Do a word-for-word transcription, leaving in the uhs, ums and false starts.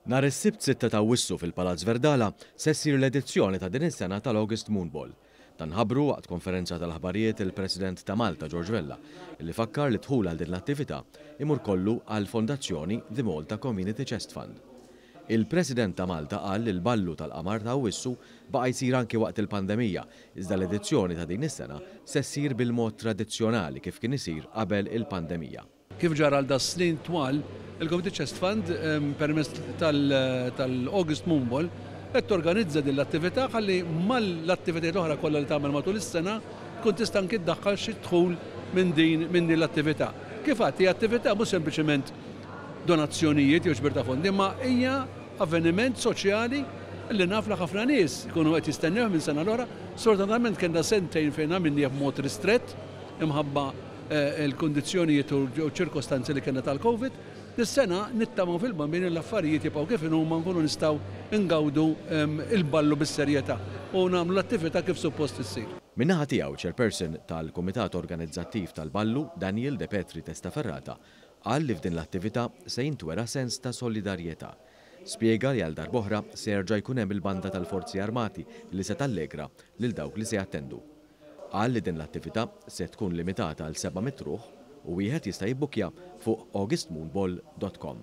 Nhar is-Sibt sitta ta' Awwissu fil-Palazz Verdala se ssir l-edizzjoni ta' din is-sena tal-August Moon Ball. Dan ħabbru waqt konferenza tal-aħbarijiet il-President ta' Malta George Vella, li fakkar li dħul għal din l-attività imur kollu għall-Fondazzjoni The Malta Community Chest Fund. Il-President ta' Malta qal li l-ballu tal-qamar ta' Awwissu baqa' jsir anki waqt il-pandemija, iżda l-edizzjoni ta' din is-sena se ssir bil-mod tradizzjonali kif kien isir qabel il-pandemija. Kif ġara għal das-snin twal, il-Community Chest Fund permezz tal-August Moon Ball qed torganizza din l-attività ħalli mal-attivitajiet l-oħra kollha li tagħmel matul is-sena tkun tista' anki ddaħħal xi dħul minn din minn din l-attività. Kif għedt, hija attività mhux sempliċement donazzjonijiet jew ġbir ta' fondi, ma hija avveniment soċjali li naf li ħafna nies ikunu qed jistennew minn sena l-oħra. Sfortunatament kellna sentejn fejn għamilnieh b'mod ristrett imħabba il-kondizzjonijiet u ċirkostanzi li kellna tal-Covid. Dis-sena nittamaw fil-Bambin l-affarijiet jibqgħu kif huma, nkunu nistgħu ngawdu il-ballu bis-serjetà u nagħmlu l-attività kif suppost issir. Min-naħa tiegħu, chairperson tal-Kumitat Organizzattiv tal-Ballu, Daniel De Petri Testaferrata, qal li f'din l-attività se jintwera sens ta' solidarjetà. Spjega li għal darb'oħra se jerġa' jkun hemm il-banda tal-Forzi Armati li se tallegra lil dawk li se jattendu. Qal li din l-attività se tkun limitata għal seba' mitt ruħ u wieħed jista' jibbukja fuq augustmoonball dot com.